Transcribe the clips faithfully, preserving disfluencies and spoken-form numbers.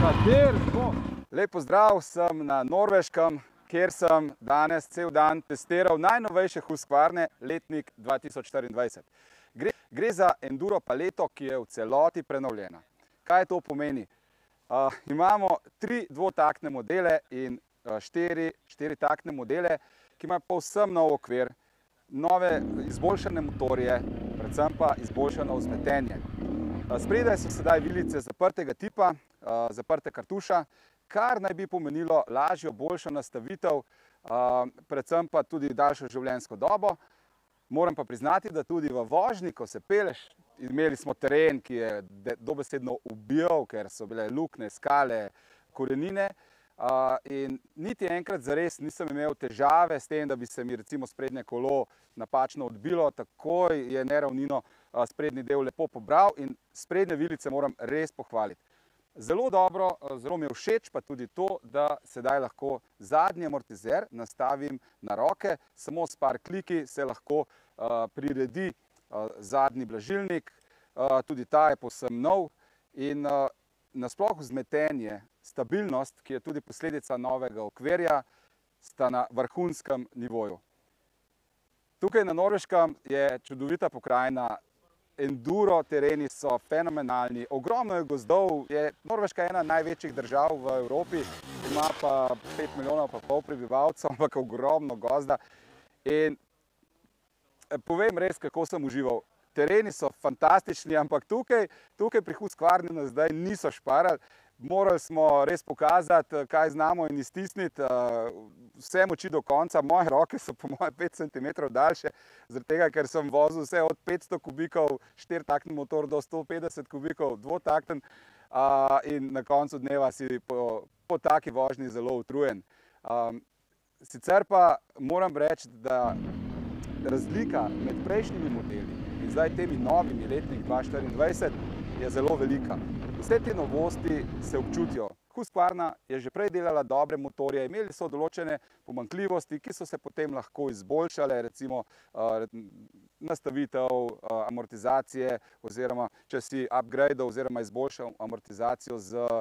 Kater smo? Lep pozdrav, sem na Norveškem, kjer sem danes cel dan testiral najnovejše Husqvarne letnik dva tisoč štiriindvajset. Gre, gre za enduro paleto, ki je v celoti prenovljena. Kaj to pomeni? Uh, imamo tri dvotaktne modele in uh, štiri štiritaktne modele, ki imajo povsem nov okvir, nove izboljšane motorje, predvsem pa izboljšano vzmetenje. Uh, spredaj so sedaj vilice zaprtega tipa, uh, zaprte kartuša, kar naj bi pomenilo lažjo, boljšo nastavitev, uh, predvsem pa tudi daljšo življenjsko dobo. Moram pa priznati, da tudi v vožnji, ko se peleš, imeli smo teren, ki je dobesedno ubijal, ker so bile luknje, skale, korenine. Uh, in niti enkrat zares nisem imel težave s tem, da bi se mi recimo sprednje kolo napačno odbilo, takoj je neravnino uh, sprednji del lepo pobral in sprednje vilice moram res pohvaliti. Zelo dobro, zelo mi je všeč pa tudi to, da sedaj lahko zadnji amortizer nastavim na roke, samo s par kliki se lahko uh, priredi uh, zadnji blažilnik, uh, tudi ta je povsem nov in uh, nasploh vzmetenje, stabilnost, ki je tudi posledica novega okvirja, sta na vrhunskem nivoju. Tukaj na Norveškem je čudovita pokrajina, enduro tereni so fenomenalni, ogromno je gozdov, je Norveška ena največjih držav v Evropi, ima pa pet milijonov pa pol prebivalcev, ampak ogromno gozda. In povem res, kako sem užival. Tereni so fantastični, ampak tukaj, tukaj pri Husqvarni nas zdaj niso šparali. Morali smo res pokazati, kaj znamo in iztisniti vse moči do konca. Moje roke so po moje pet centimetrov daljše, zaradi tega, ker sem vozil vse od petsto kubikov štiritakten motor do sto petdeset kubikov dvotakten in na koncu dneva si po, po taki vožnji zelo utrujen. Sicer pa moram reči, da razlika med prejšnjimi modeli in zdaj temi novimi letnik dva tisoč štiriindvajset je zelo velika. Vse te novosti se občutijo. Husqvarna je že prej delala dobre motorje, imeli so določene pomanjkljivosti, ki so se potem lahko izboljšale, recimo uh, nastavitev uh, amortizacije oziroma če si upgradeal oziroma izboljšal amortizacijo z uh,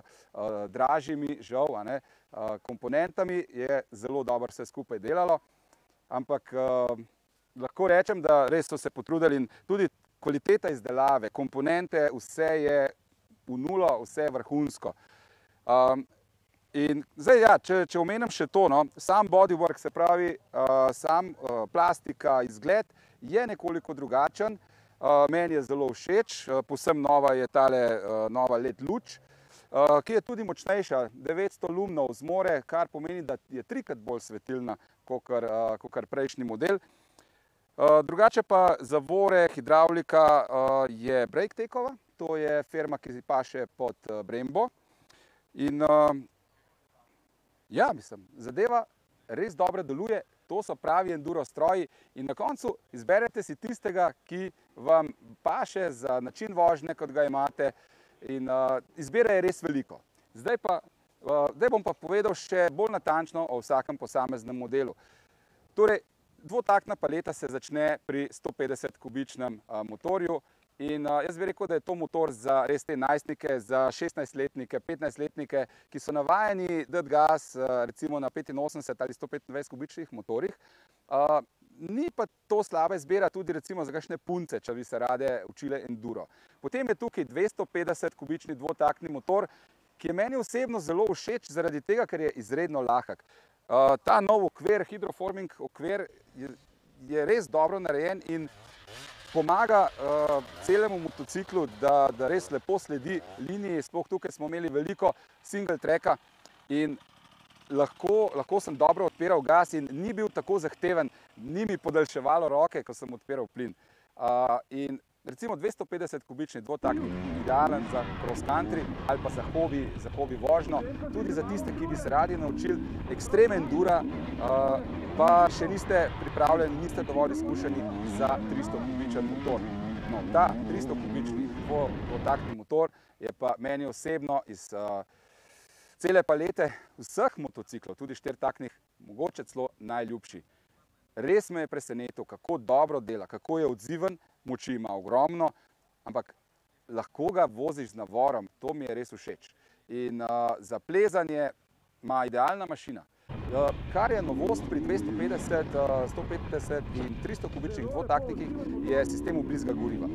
dražjimi, žal, a ne, uh, komponentami, je zelo dobro vse skupaj delalo, ampak uh, lahko rečem, da res so se potrudili in tudi kvaliteta izdelave, komponente, vse je v nulo, vse je vrhunsko. Um, in zdaj, ja, če, če omenim še to, no, sam bodywork, se pravi, uh, sam uh, plastika, izgled je nekoliko drugačen, uh, meni je zelo všeč, uh, povsem nova je tale uh, nova L E D luč, uh, ki je tudi močnejša, devetsto lumnov zmore, kar pomeni, da je trikrat bolj svetilna, kakor, uh, kakor prejšnji model. Uh, drugače pa zavore, hidravlika uh, je Breaktekova, to je firma, ki paše pod uh, Brembo. In uh, ja, mislim, zadeva res dobro deluje, to so pravi enduro stroji in na koncu izberete si tistega, ki vam paše za način vožnje, kot ga imate in uh, izbira je res veliko. Zdaj pa, uh, zdaj bom pa povedal še bolj natančno o vsakem posameznem modelu. Torej, dvotaktna paleta se začne pri sto petdeset kubičnem uh, motorju in uh, jaz bi rekel, da je to motor za res te najstnike, za šestnajstletnike, petnajstletnike, ki so navajeni dati gas uh, recimo na petinosemdeset ali sto petindvajset kubičnih motorjih. Uh, ni pa to slaba izbira tudi recimo za kakšne punce, če bi se rade učile enduro. Potem je tukaj dvesto petdeset kubični dvotaktni motor, ki je meni osebno zelo všeč zaradi tega, ker je izredno lahek. Uh, ta nov okvir, hidroforming okvir, je, je res dobro narejen in pomaga uh, celemu motociklu, da, da res lepo sledi liniji. Sploh tukaj smo imeli veliko single tracka in lahko, lahko sem dobro odpiral gas in ni bil tako zahteven, ni mi podaljševalo roke, ko sem odpiral plin. Uh, in recimo dvesto petdeset kubični dvotaktni, idealen za cross country ali pa za hobi, za hobi vožnjo, tudi za tiste, ki bi se radi naučili ekstrem endura, uh, pa še niste pripravljeni, niste dovolj izkušeni za tristo kubičen motor. No, ta tristo kubični dvotaktni motor je pa meni osebno iz uh, cele palete vseh motociklov, tudi štiritaktnih, mogoče celo najljubši. Res me je presenetil, kako dobro dela, kako je odziven, moči ima ogromno, ampak lahko ga voziš z navorom, to mi je res všeč. in uh, za plezanje ima idealna mašina. Uh, kar je novost pri dvesto petdeset, uh, sto petdeset in tristo kubičnih dvotaktnikih, je sistem vbrizga goriva.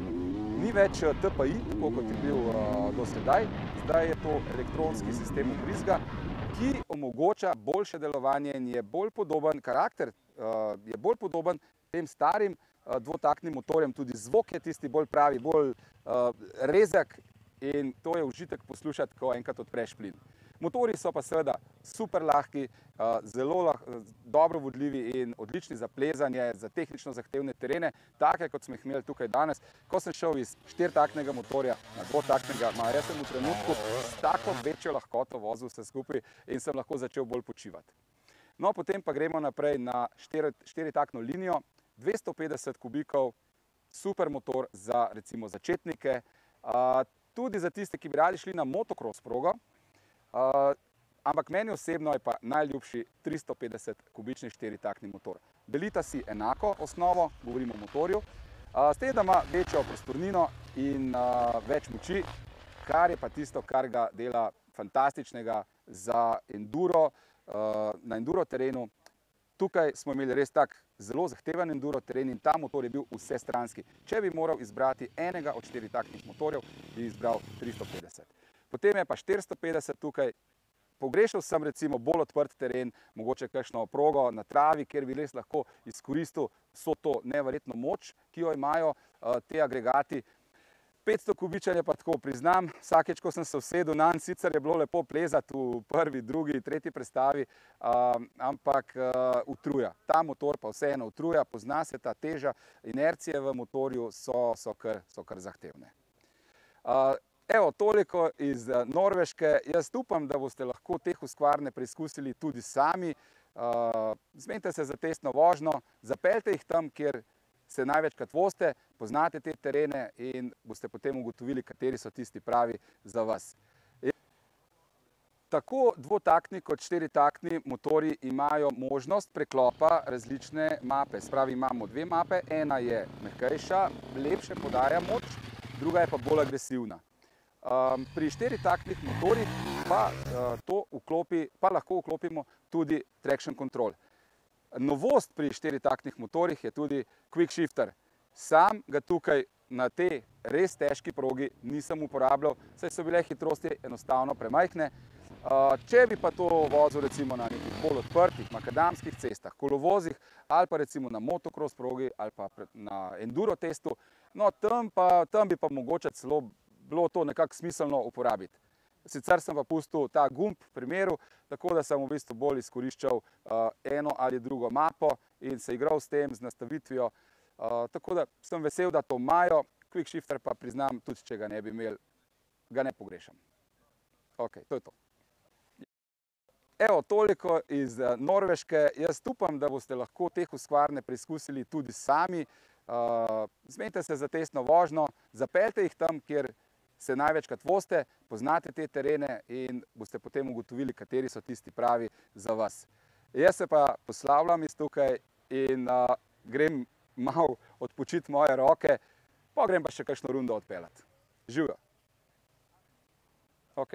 Ni več T P I, tako kot je bil uh, do sedaj, zdaj je to elektronski sistem vbrizga, ki omogoča boljše delovanje in je bolj podoben, karakter uh, je bolj podoben tem starim uh, dvotaktnim motorjem, tudi zvok je tisti bolj pravi, bolj uh, rezek in to je užitek poslušati, ko enkrat odpreš plin. Motorji so pa seveda super lahki, zelo lah, dobro vodljivi in odlični za plezanje, za tehnično zahtevne terene, take kot smo jih imeli tukaj danes. Ko sem šel iz štiritaktnega motorja na dvotaktnega, jaz sem v trenutku s tako večjo lahkoto vozil vse skupaj in sem lahko začel bolj počivati. No, potem pa gremo naprej na štiritaktno linijo, dvesto petdeset kubikov, super motor za recimo začetnike, tudi za tiste, ki bi radi šli na motocross progo. Uh, ampak meni osebno je pa najljubši tristo petdeset kubični štiritaktni motor. Delita si enako osnovo, govorimo o motorju, uh, s tem, da ima večjo prostornino in uh, več moči, kar je pa tisto, kar ga dela fantastičnega za enduro, uh, na enduro terenu. Tukaj smo imeli res tak zelo zahteven enduro teren in ta motor je bil vsestranski. Če bi moral izbrati enega od štiritaktnih motorjev, bi izbral tristo petdeset. Potem je pa štiristo petdeset tukaj, pogrešal sem recimo bolj odprt teren, mogoče kakšno progo na travi, kjer bi res lahko izkoristil vso to neverjetno moč, ki jo imajo uh, te agregati. petsto kubičen je pa tako, priznam, vsakeč, ko sem se usedel nanj, sicer je bilo lepo plezati v prvi, drugi, tretji prestavi, uh, ampak uh, utruja. Ta motor pa vseeno utruja, pozna se ta teža, inercije v motorju so, so, kar, so kar zahtevne. Uh, Evo, toliko iz Norveške. Jaz upam, da boste lahko te husqvarne preizkusili tudi sami. Zmenite se za testno vožnjo, zapeljte jih tam, kjer se največkrat vozite, poznate te terene in boste potem ugotovili, kateri so tisti pravi za vas. Tako dvotaktni kot štiritaktni motorji imajo možnost preklopa različne mape. Spravi imamo dve mape, ena je mehkejša, lepše podaja moč, druga je pa bolj agresivna. Um, pri štiritaktnih motorjih pa, uh, to vklopi, pa lahko vklopimo tudi traction control. Novost pri štiritaktnih motorjih je tudi quick shifter. Sam ga tukaj na tej res težki progi nisem uporabljal, saj so bile hitrosti enostavno premajhne. Uh, če bi pa to vozil recimo na nekih bolj odprtih makadamskih cestah, kolovozih ali pa recimo na motocross progi ali pa na enduro testu, no tam, pa, tam bi pa mogoče celo bilo to nekako smiselno uporabiti. Sicer sem pa pustil ta gumb v primeru, tako da sem v bistvu bolj izkoriščal uh, eno ali drugo mapo in se igral s tem, z nastavitvijo. Uh, tako da sem vesel, da to imajo, quick shifter pa priznam, tudi če ga ne bi imel, ga ne pogrešam. Ok, to je to. Evo, toliko iz Norveške. Jaz upam, da boste lahko te husqvarne preizkusili tudi sami. Uh, zmenite se za testno vožnjo, zapeljte jih tam, kjer se največkrat vozite, poznate te terene in boste potem ugotovili, kateri so tisti pravi za vas. Jaz se pa poslavljam iz tukaj in uh, grem malo odpočiti moje roke, pa grem pa še kakšno rundo odpeljati. Živjo! Ok.